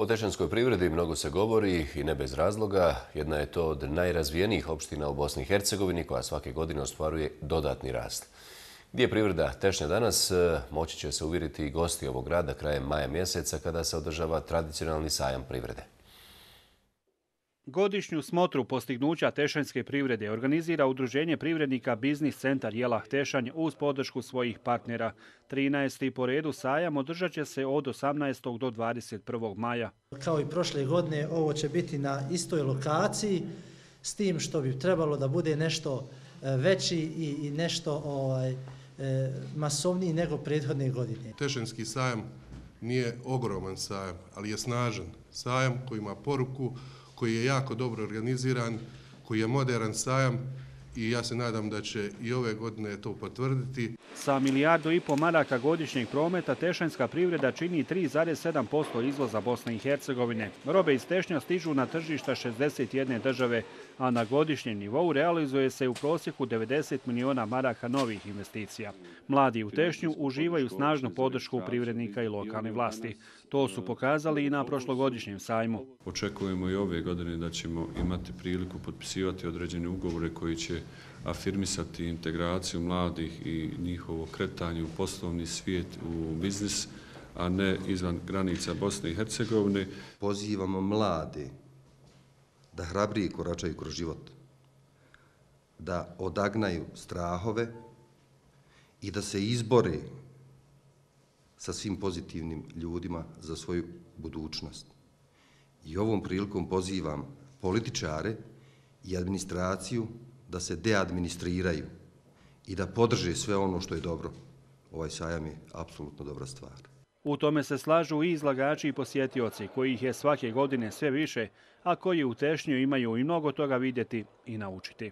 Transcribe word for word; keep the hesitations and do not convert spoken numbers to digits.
O tešanskoj privredi mnogo se govori i ne bez razloga. Jedna je to od najrazvijenijih opština u Bosni i Hercegovini koja svake godine ostvaruje dodatni rast. Gdje je privreda Tešnja danas, moći će se uvjeriti i gosti ovog grada krajem maja mjeseca kada se održava tradicionalni sajam privrede. Godišnju smotru postignuća tešanjske privrede organizira Udruženje privrednika Biznis centar Jelah Tešanj uz podršku svojih partnera. trinaesti po redu sajam održat će se od osamnaestog do dvadeset prvog maja. Kao i prošle godine, ovo će biti na istoj lokaciji, s tim što bi trebalo da bude nešto veći i nešto ovaj, masovniji nego prethodne godine. Tešanjski sajam nije ogroman sajam, ali je snažan sajam koji ima poruku, koji je jako dobro organiziran, koji je moderan sajam i ja se nadam da će i ove godine to potvrditi. Sa milijardu i po maraka godišnjeg prometa tešanjska privreda čini tri zarez sedam posto izvoza Bosne i Hercegovine. Robe iz Tešnja stižu na tržišta šezdeset jedne države, a na godišnjem nivou realizuje se u prosjeku devedeset miliona maraka novih investicija. Mladi u Tešnju uživaju snažnu podršku privrednika i lokalne vlasti. To su pokazali i na prošlogodišnjem sajmu. Očekujemo i ove godine da ćemo imati priliku potpisivati određene ugovore koji će afirmisati integraciju mladih i njihovo kretanje u poslovni svijet, u biznis, a ne izvan granica Bosne i Hercegovine. Pozivamo mlade da hrabrije koračaju kroz život, da odagnaju strahove i da se izbore sa svim pozitivnim ljudima za svoju budućnost. I ovom prilikom pozivam političare i administraciju da se deadministriraju i da podrže sve ono što je dobro. Ovaj sajam je apsolutno dobra stvar. U tome se slažu i izlagači i posjetioci, kojih je svake godine sve više, a koji u Tešnju imaju i mnogo toga vidjeti i naučiti.